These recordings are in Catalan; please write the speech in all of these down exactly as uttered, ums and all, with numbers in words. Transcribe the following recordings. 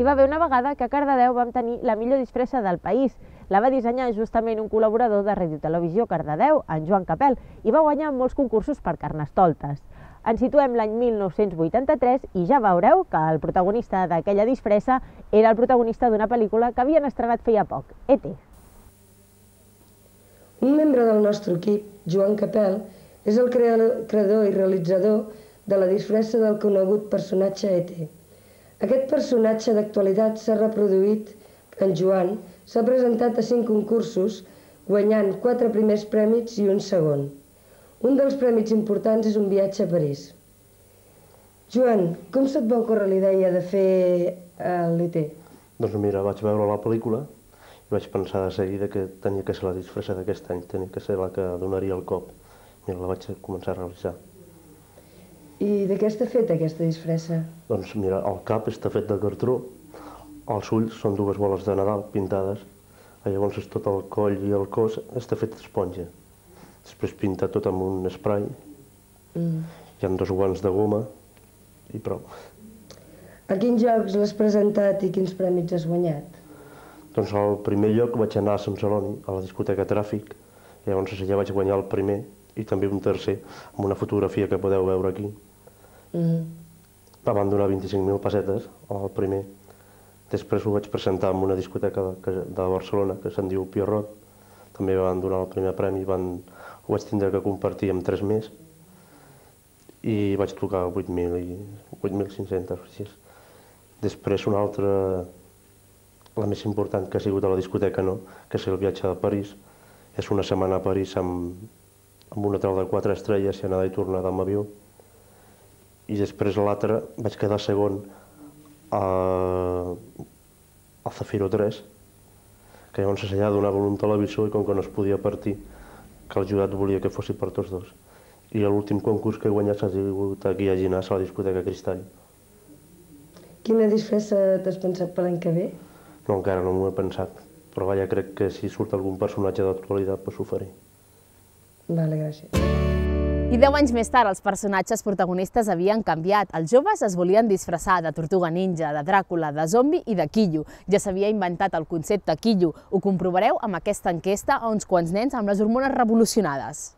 hi va haver una vegada que a Cardedeu vam tenir la millor disfressa del país. La va dissenyar justament un col·laborador de Ràdio Televisió Cardedeu, en Joan Capel, i va guanyar molts concursos per Carnestoltes. Ens situem l'any mil nou-cents vuitanta-tres i ja veureu que el protagonista d'aquella disfressa era el protagonista d'una pel·lícula que havien estrenat feia poc, E T Un membre del nostre equip, Joan Capel, és el creador i realitzador de la disfressa del conegut personatge E T Aquest personatge d'actualitat s'ha reproduït. En Joan s'ha presentat a cinc concursos, guanyant quatre primers prèmits i un segon. Un dels prèmits importants és un viatge a París. Joan, com se't va ocórrer la idea de fer l'E T? Doncs mira, vaig veure la pel·lícula i vaig pensar de seguida que tenia que ser la disfressa d'aquest any, tenia que ser la que donaria el cop. Mira, la vaig començar a realitzar. I de què està feta aquesta disfressa? Doncs mira, el cap està fet de cartró, els ulls són dues boles de Nadal pintades, llavors tot el coll i el cos està fet d'esponja. Després pinta tot amb un spray, mm. hi ha dos guants de goma i prou. A quins llocs l'has presentat i quins prèmits has guanyat? Doncs al primer lloc vaig anar a Sant Celoni, a la discoteca Tràfic, llavors allà vaig guanyar el primer i també un tercer, amb una fotografia que podeu veure aquí. Mm. Van donar vint-i-cinc mil pessetes al primer. Després ho vaig presentar en una discoteca de Barcelona que se'n diu Pierrot. També van donar el primer premi, van... ho vaig tindre que compartir amb tres més i vaig tocar vuit mil cinc-cents. Després una altra, la més important que ha sigut a la discoteca, no? Que és el viatge a París. És una setmana a París amb, amb un hotel de quatre estrelles i anada i tornada amb avió. I després l'altre vaig quedar segon a, a Zafiro tres, que llavors allà donava un televisor i com que no es podia partir, que el jurat volia que fossi per tots dos. I l'últim concurs que he guanyat ha sigut aquí a Llinars, a la discoteca Cristall. Quina disfressa t'has pensat per l'any que ve? No, encara no m'ho he pensat, però vaja, crec que si surt algun personatge d'actualitat, doncs ho faré. Vale, gràcies. I deu anys més tard, els personatges protagonistes havien canviat. Els joves es volien disfressar de Tortuga Ninja, de Dràcula, de zombi i de quillo. Ja s'havia inventat el concepte quillo. Ho comprovareu amb aquesta enquesta a uns quants nens amb les hormones revolucionades.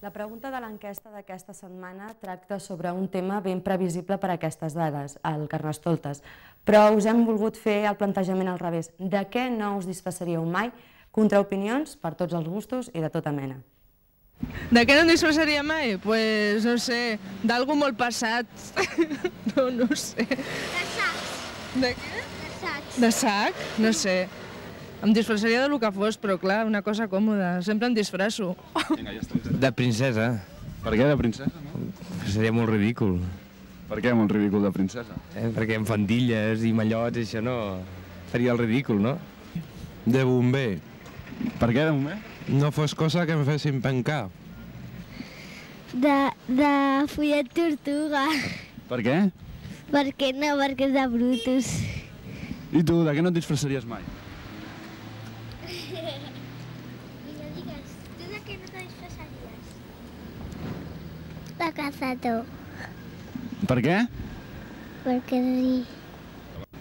La pregunta de l'enquesta d'aquesta setmana tracta sobre un tema ben previsible per a aquestes dades, el Carnestoltes. Però us hem volgut fer el plantejament al revés. De què no us disfressaríeu mai? Contraopinions per tots els gustos i de tota mena. De què no em disfressaria mai? Pues, no sé, d'algú molt passat. No, no sé. De sacs. De què? De sacs. De sac? No sé. Em disfressaria del que fos, però clar, una cosa còmoda. Sempre em disfresso. De princesa. Per què de princesa, no? Seria molt ridícul. Per què molt ridícul de princesa? Eh, perquè amb faldilles i mallots, això no... Faria el ridícul, no? De bomber. Per què de bomber? No fos cosa que em fessin pencar. De, de follet tortuga. Per què? Perquè no, perquè és de brutos. I tu, de què no et disfressaries mai? Vinga, digues, tu de què no te disfressaries? De cazador. Per què? Perquè sí.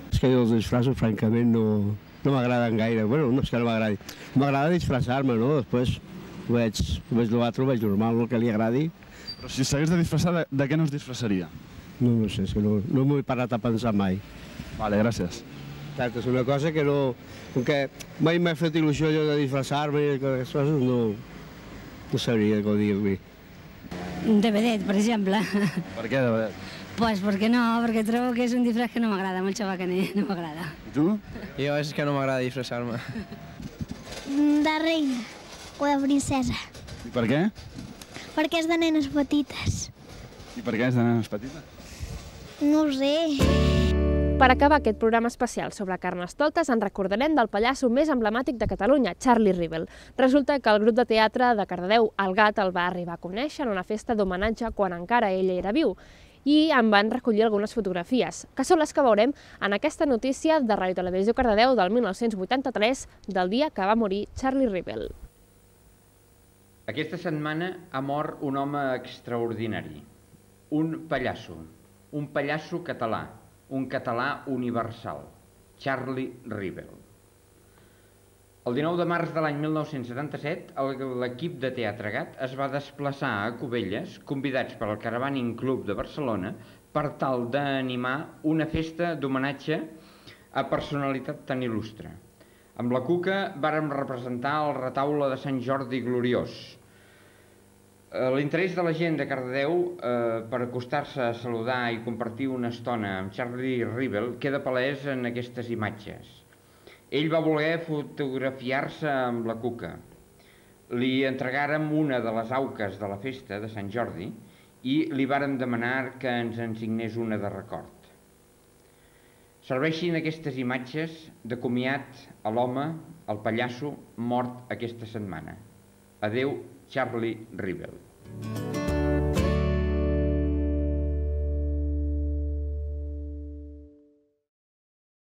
És que els disfressos, francament, no... No m'agraden gaire, bueno, no és que no m'agradi. M'agrada disfressar-me, no? Després ho veig, ho veig l'altre, ho veig normal, el que li agradi. Però si s'hagués de disfressar, de, de què no es disfressaria? No, no sé, és que no, no m'ho he parat a pensar mai. Vale, gràcies. Exacte, és una cosa que no... Com que mai m'ha fet il·lusió allò de disfressar-me i aquestes coses, no... No sabria què dir-li. De vedet, per exemple. Per què de vedet? Pues perquè no, perquè trobo que és un disfress que no m'agrada, molt xabacaner, no m'agrada. I tu? Jo és que no m'agrada disfressar-me. De reina o de princesa. I per què? Perquè és de nenes petites. I per què és de nenes petites? No ho sé. Per acabar aquest programa especial sobre Carnestoltes, en recordarem del pallasso més emblemàtic de Catalunya, Charlie Rivel. Resulta que el grup de teatre de Cardedeu, El Gat, el va arribar a conèixer en una festa d'homenatge quan encara ell era viu. I en van recollir algunes fotografies, que són les que veurem en aquesta notícia de Ràdio Televisió Cardedeu del mil nou-cents vuitanta-tres, del dia que va morir Charlie Rivel. Aquesta setmana ha mort un home extraordinari, un pallasso, un pallasso català, un català universal. Charlie Rivel. El dinou de març de l'any mil nou-cents setanta-set, l'equip de Teatre Gat es va desplaçar a Cubelles, convidats per al Caravaning Club de Barcelona, per tal d'animar una festa d'homenatge a personalitat tan il·lustre. Amb la Cuca vàrem representar el retaule de Sant Jordi Gloriós. L'interès de la gent de Cardedeu eh, per acostar-se a saludar i compartir una estona amb Charlie Rivel queda palès en aquestes imatges. Ell va voler fotografiar-se amb la Cuca. Li entregàrem una de les auques de la festa de Sant Jordi i li vàrem demanar que ens en signés una de record. Serveixin aquestes imatges de comiat a l'home, el pallasso, mort aquesta setmana. Adéu, Charlie Rivel.